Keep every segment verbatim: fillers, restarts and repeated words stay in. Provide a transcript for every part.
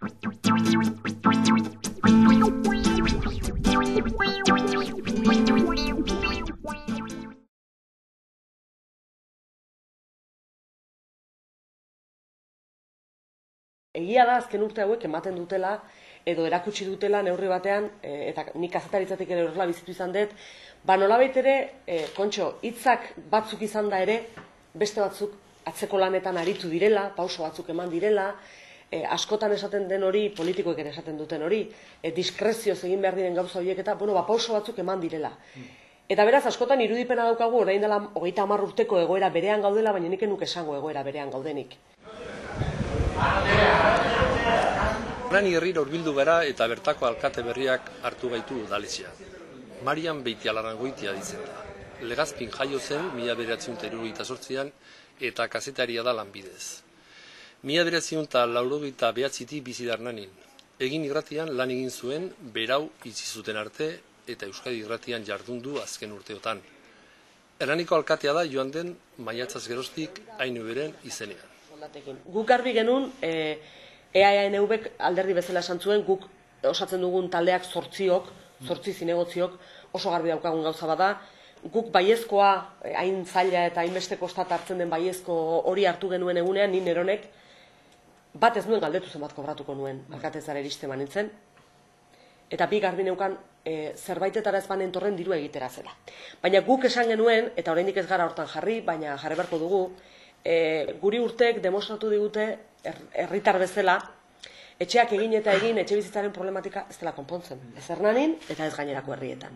Egia da azken urte hauek ematen dutela edo erakutsi dutela neurri batean, e, eta nik kazetaritzatik ere horrela bizitu izan dut, ba nolabait ere, e, kontxo, hitzak batzuk izan da ere, beste batzuk atzeko lanetan aritu direla, pauso batzuk eman direla, e, askotan esaten den hori, politikoek ere esaten duten hori, e, diskrezioz egin behar diren gauza horiek eta, bueno, ba pauso batzuk eman direla. Eta beraz, askotan irudipena daukagu, orain dela hogeita hamar urteko egoera berean gaudela, baina nik enuk esango egoera berean gaudenik. Hernani herrira hurbildu gara eta bertako alkate berriak hartu gaitu udaletxea. Marian Beitialarrangoitia ditzen da. Legazpin jaio zen mila bederatziehun eta hirurogeita zortzian eta kazetaria da lanbidez. Mila bederatziehun eta laurogeita behatzitik bizi da Hernanin. Egin irratian lan egin zuen berau itxi zuten arte eta Euskadi irratian jardundu azken urteotan. Hernaniko alkatea da joan den maiatzaz geroztik hainu beren izenean. Guk garbi genuen, e, E A N V alderdi bezala esan zuen, guk osatzen dugun taldeak zortziok, zortzi zinegotziok, oso garbi daukagun gauza bada, guk baiezkoa, hain zaila eta hainbeste kostat hartzen den baiezko hori hartu genuen egunean, ni neronek, bat ez nuen galdetu zenbat kobratuko nuen, alkatezara iriste manintzen, eta bi garbi neukan e, zerbaitetara ez banen torren diru egitera zela. Baina guk esan genuen, eta oraindik ez gara hortan jarri, baina jarri beharko dugu, E, guri urteek demostratu digute herritar bezala etxeak egin eta egin etxe bizitzaren problematika ez dela konpontzen. Ez Hernanin eta ez gainerako herrietan.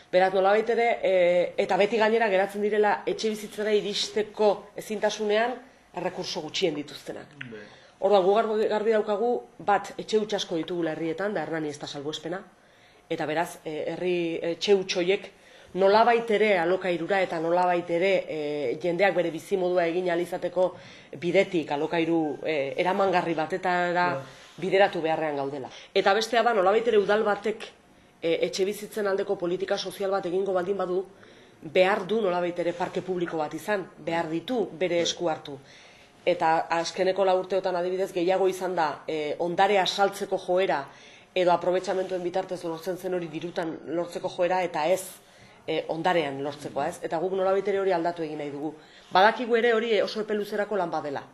Beraz nolabait ere, e, eta beti gainera geratzen direla etxe bizitzara iristeko ezintasunean errekurso gutxien dituztenak. Orduan gu garbi daukagu bat etxe huts asko ditugula herrietan, da Hernani ez da salbuespena, eta beraz e, herri etxe huts horiek nolabait ere alokairura eta nolabait ere e, jendeak bere bizimodua egin ahal izateko bidetik alokairu e, eramangarri batetara bideratu beharrean gaudela. Eta bestea da nolabait ere udal batek e, etxe bizitzen aldeko politika sozial bat egingo baldin badu, behar du nolabait ere parke publiko bat izan, behar ditu bere esku hartu. Eta azkeneko lau urteotan adibidez gehiago izan da e, ondarea saltzeko joera edo aprobetxamentuen bitartez lortzen zen hori dirutan lortzeko joera eta ez E, ondarean lortzeko, ez? Eta guk nolabait ere hori aldatu egin nahi dugu. Badakigu ere hori oso epe luzerako lan badela.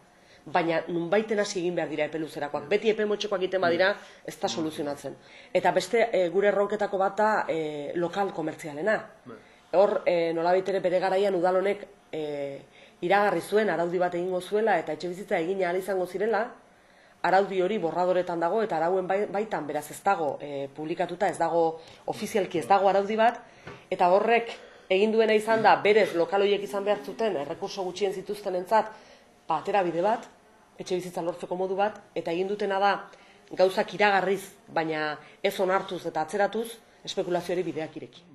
Baina nunbaiten hasi egin behar dira epe luzerakoak. Beti epe motxekoak egiten badira, ez da soluzionatzen. Eta beste e, gure erronketako bat da e, lokal komertzialena. Hor e, nolabait ere bere garaian udalonek e, iragarri zuen, araudi bat egingo zuela eta etxe bizitza egin ahal izango zirela, araudi hori borradoretan dago eta arauen baitan beraz ez dago e, publikatuta, ez dago ofizialki ez dago araudi bat, eta horrek egin duena izan da berez lokal horiek izan behar zuten errekurso gutxien zituztenentzat ba, atera bide bat, etxe bizitza lortzeko modu bat, eta egin dutena da gauzak iragarriz, baina ez onartuz eta atzeratuz espekulazioari bideak ireki.